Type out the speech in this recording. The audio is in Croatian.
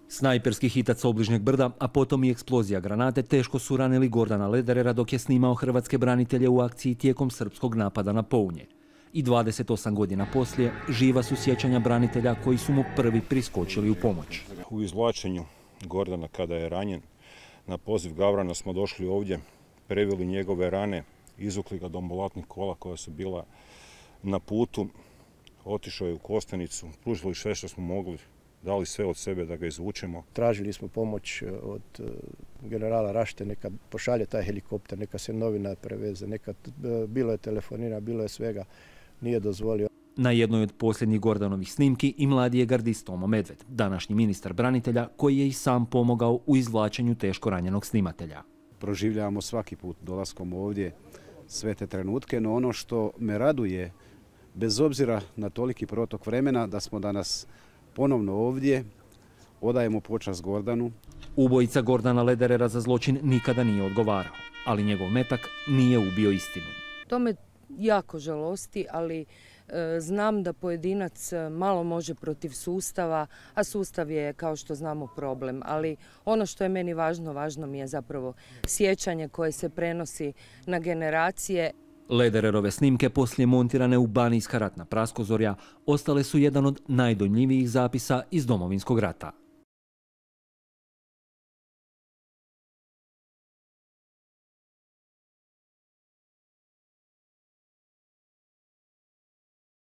Snajperski hitac sa obližnjeg brda, a potom i eksplozija granate teško su ranili Gordana Lederera dok je snimao hrvatske branitelje u akciji tijekom srpskog napada na Pounje. I 28 godina poslije živa su sjećanja branitelja koji su mu prvi priskočili u pomoć. U izvlačenju Gordana kada je ranjen, na poziv Gavrana smo došli ovdje, preveli njegove rane, izvukli ga do ambulatnih kola koja su bila na putu, otišao je u Kostajnicu, pružili sve što smo mogli, dali sve od sebe da ga izvučemo. Tražili smo pomoć od generala Rašte, neka pošalje taj helikopter, neka se novina preveze, bilo je telefonira, bilo je svega, nije dozvolio. Na jednoj od posljednjih Gordanovih snimki i mladi je gardist Tomo Medved, današnji ministar branitelja koji je i sam pomogao u izvlačenju teško ranjenog snimatelja. Proživljavamo svaki put dolaskom ovdje sve te trenutke, no ono što me raduje, bez obzira na toliki protok vremena, da smo danas ponovno ovdje, odajemo počast Gordanu. Ubojica Gordana Lederera za zločin nikada nije odgovarao, ali njegov metak nije ubio istinu. To me jako žalosti, ali znam da pojedinac malo može protiv sustava, a sustav je, kao što znamo, problem. Ali ono što je meni važno, važno mi je zapravo sjećanje koje se prenosi na generacije. Ledererove snimke, poslije montirane u Banijska ratna praskozorja, ostale su jedan od najdojmljivijih zapisa iz Domovinskog rata.